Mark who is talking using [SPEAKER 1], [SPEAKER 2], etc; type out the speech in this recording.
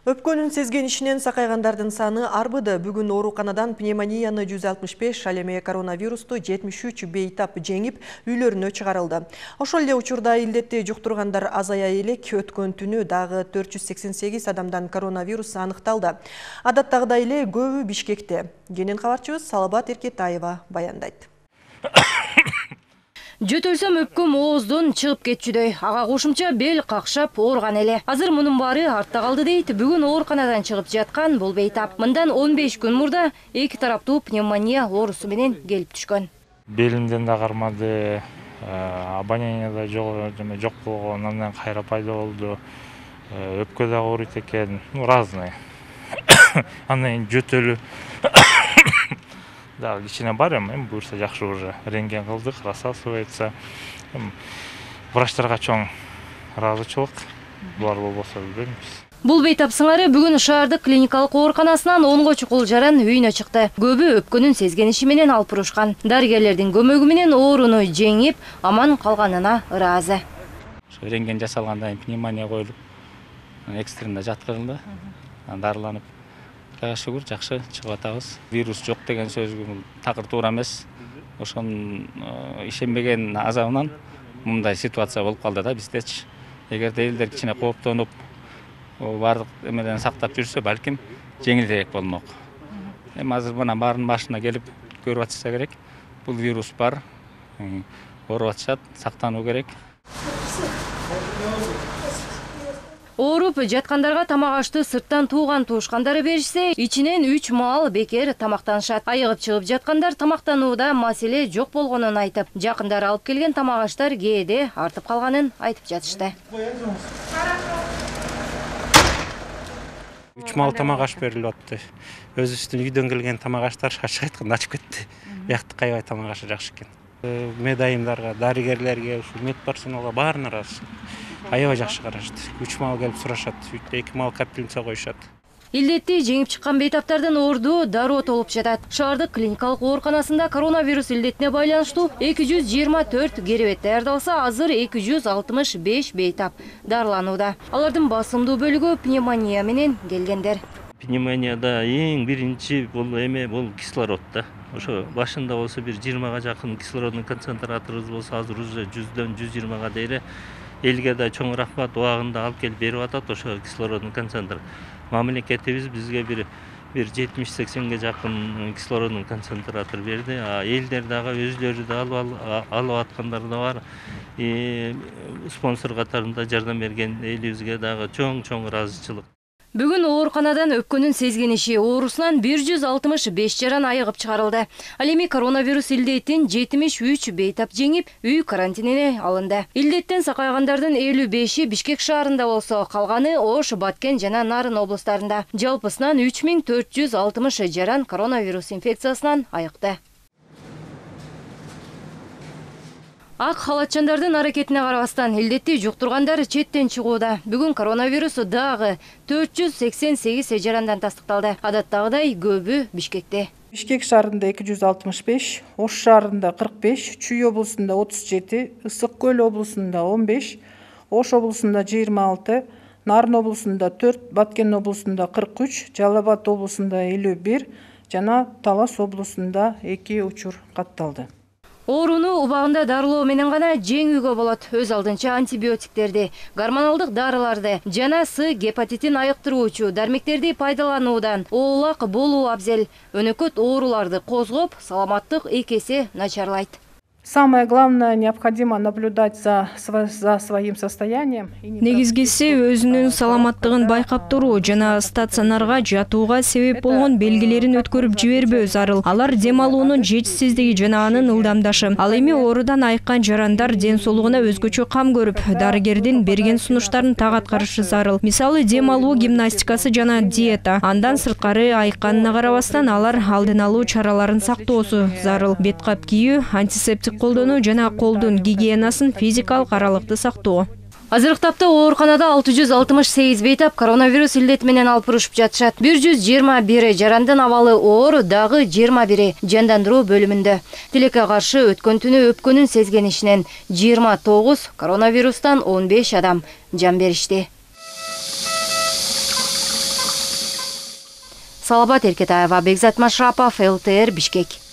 [SPEAKER 1] Өпкөнүн сезген ишинен сакайгандардын саны арбыды. Бүгүн ооруканадан пневмонияны 165, ал эми коронавирусту 73 бейтап жеңип, үйлөрүнө чыгарылды. Ошол эле учурда илдетти жуктургандар азая элек. Өткөн түнү дагы 488 адамдан коронавирус аныкталды. Адаттагыдай эле көбү Бишкекте. Кенен кабарчыбыз Салабат Эркетаева баяндайт.
[SPEAKER 2] Жөтөлсөм өпкөм ооздон чыгып кетчүдөй. Ага кошумча бел какшап ооруган эле. Азыр мунун баары артта калды дейт. Бүгүн ооруканадан чыгып жаткан бул бейтап. Мындан 15 күн мурда эки тараптуу пневмония оорусу менен келип түшкөн.
[SPEAKER 3] Белимден да кармады, обоняние да жок болгон, андан кайра пайда болду. Өпкө да ооруйт экен, разный. Андан жөтөлү да, кичине бар эми, буюрса жакшы уже. Рентген кылдык, рассасывается. Врачтарга чоң ыраазычылык. Булар болбосо билбеймиз.
[SPEAKER 2] Бул бейтап сыңары бүгүн шаардык клиникалык ооруканасынан 10 чукул жаран үйүнө чыкты. Көбү өпкөнүн сезген иши менен алып урушкан. Дарыгерлердин көмөгү менен ооруну жеңип, аман калганына ыраазы.
[SPEAKER 4] Рентген жасалгандан кийин пневмония коюлуп, экстренно жаткырылды, дарыланып. Кудай шүгүр, жакшы чыгып атабыз. Вирус жок деген сөзгө такыр туура эмес. Ошонун ишенбеген азабынан мындай ситуация болуп калды да биздечи. Эгерде элдер кичине кооптонуп, бардык эмеден сактап жүрсө, балким жеңилирээк болмок. Эми азыр мына баарынын башына келип көрүп атышса керек. Бул вирус бар, ооруп атышат, сактануу керек.
[SPEAKER 2] Ооруп жаткандарга тамак ашты сырттан тууган туушкандары беришсе, ичинен 3 маал бекер тамактанышат. Айыгып чыгып жаткандар тамактанууда маселе жок болгонун айтып, жакындары алып келген тамак аштар кээде артып калганын айтып жатышты.
[SPEAKER 5] 3 маал тамак аш берилип атты. Өзүбүздүн үйдөн келген тамак аштар ачык айтканда ачып кетти. Биякты кайбай тамак ашы жакшы экен. Медайымдарга, дарыгерлерге, медперсоналга баарына ыраазы. Аябай жакшы карашты. 3 маал келип сурашат, 2 маал капельница коюшат.
[SPEAKER 2] Илдетти жеңип чыккан бейтаптардын орду дароо толуп жатат. Шаардык клиникалык ооруканасында коронавирус илдетине байланыштуу 224 керебет даярдалса, азыр 265 бейтап дарыланууда. Алардын басымдуу бөлүгү пневмония менен келгендер.
[SPEAKER 6] Пневмонияда эң биринчи бул эме бул кислород да. Ошо башында болсо бир 20га жакын кислороддун концентраторубуз болсо, азыр уже 100дөн 120га дейре. Элге да чоң рахмат, убагында алып келип берип атат ошо кислороддун концентрат. Мамлекетибиз бизге бир 70-80ге жакын кислороддун концентратор берди. Элдер дагы өзлөрү да алып аткандар да бар. Спонсор катарында жардам берген элибизге дагы чоң ыраазычылык.
[SPEAKER 2] Бүгүн ооруканадан өпкөнүн сезген иши оорусунан 165 жаран айыгып чыгарылды. Ал эми коронавирус илдетин 73 бейтап жеңип, үй карантинине алынды. Илдеттен сакайгандардын 55-и Бишкек шаарында болсо, калганы Ош, Баткен жана Нарын облустарында. Жалпысынан 3460 жаран коронавирус инфекциясынан айыкты. Ак халатчандардын аракетине карабастан илдетти жуктургандар четтен чыгууда. Бүгүн коронавирус дагы 488 жарандан тастыкталды. Адаттагыдай көбү Бишкекте.
[SPEAKER 7] Бишкек шаарында 265, Ош шаарында 45, Чүй облусунда 37, Ысык көл облусунда 15, Ош облусунда 26, Нарын облусунда 4, Баткен облусунда 43, Жалал Абад облусунда 51 жана Талас облусунда 2 учур катталды.
[SPEAKER 2] Ооруну убагында дарылоо менен гана жеңүүгө болот. Өз алдынча антибиотиктерди, гормоналдык дарыларды жана гепатитин айыктыруучу дармектерди пайдалануудан оолак болуу абзел. Өнөкөт ооруларды козгоп, саламаттык 2 эсе начарлайт.
[SPEAKER 7] Самое главное, необходимо наблюдать за своим состоянием.
[SPEAKER 8] Негизгиси өзүнүн саламаттыгын байкап туруу жана стационарга жатууга себеп болгон белгилерин өткөрүп жибербөө зарыл. Алар дем алуунун жетишсиздиги жана анын ылдамдашы. Ал эми оорудан айыккан жарандар ден соолугуна өзгөчө кам көрүп, дарыгердин берген сунуштарын так аткарышы зарыл. Мисалы, дем алуу гимнастикасы жана диета. Андан сырткары айыкканына карабастан алар алдын алуу чараларын сактоосу зарыл. Бет кап кийүү, антисептик колдонуу жана колдун гигиенасын физикалык аралыкты сактоо.
[SPEAKER 2] Азыркы тапта ооруканада 668 бейтап коронавирус илдети менен алып урушуп жатышат. 121 жарандын абалы оор, дагы 21 жандандыруу бөлүмүндө. Тилекке каршы өткөн түнү өпкөнүн сезген ишинен 29, коронавирустан 15 адам жан беришти. Салабат Эркетаева, Бекзат Машрапов, ЛТР, Бишкек.